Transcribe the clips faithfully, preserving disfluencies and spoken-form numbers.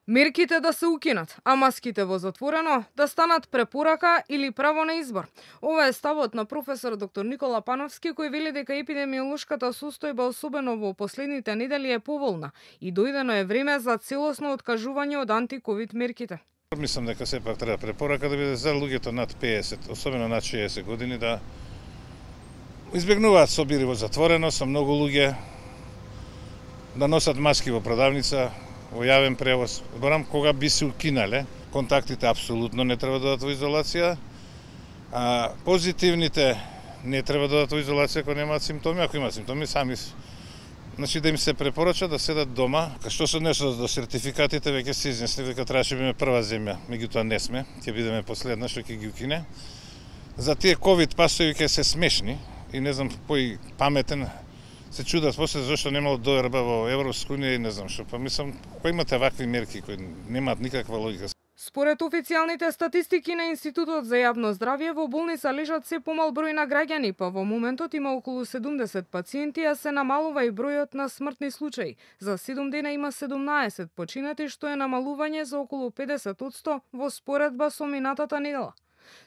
Мерките да се укинат, а маските во затворено да станат препорака или право на избор. Ова е ставот на професор доктор Никола Пановски, кој вели дека епидемиолошката состојба особено во последните недели е поволна и дојдено е време за целосно откажување од анти-ковид мерките. Мислам дека сепак треба препорака да биде за луѓето над пеесет, особено над шеесет години, да избегнуваат собири во затворено со многу луѓе, да носат маски во продавница, во јавен превоз. Зборам кога би се укинале, контактите апсолутно не треба да дадат во изолација, а позитивните не треба да дадат во изолација ако немаат симптоми, ако имаат симптоми сами. Значи да им се препорача да седат дома. Што се однесува до сертификатите, веќе се изнесли дека требаше да биме прва земја, меѓутоа не сме, ќе бидеме последна што ќе ги укине. За тие ковид пасови ќе се смешни и не знам кој паметен се чудат после зашто немало доерба во Европска унија и не знам што. Па мислам, кои имате вакви мерки кои немаат никаква логика. Според официјалните статистики на Институтот за јавно здравје, во болница лежат се помал број на граѓани, па во моментот има околу седумдесет пациенти, а се намалува и бројот на смртни случаи. За седум дена има седумнаесет починати, што е намалување за околу педесет одсто во споредба со минатата недела.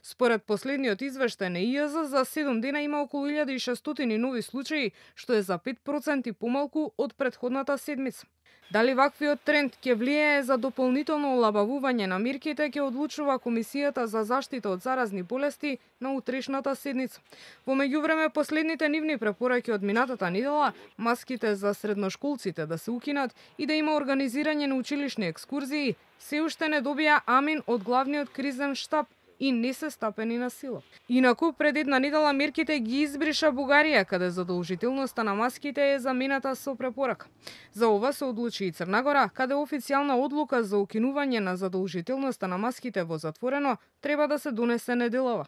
Според последниот извештај на И Ј З, за седум дена има околу илјада и шестстотини нови случаи, што е за пет проценти помалку од претходната седмица. Дали ваквиот тренд ќе влијае за дополнително олабавување на мерките, ќе одлучува Комисијата за заштита од заразни болести на утрешната седница. Во меѓувреме, последните нивни препораки од минатата недела, маските за средношколците да се укинат и да има организирање на училишни екскурзии, се уште не добија амин од главниот кризен штаб и не се стапени на сила. Инаку, пред една недела мерките ги избриша Бугарија, каде задолжителноста на маските е замената со препорака. За ова се одлучи и Црна Гора, каде официјална одлука за укинување на задолжителноста на маските во затворено треба да се донесе неделова.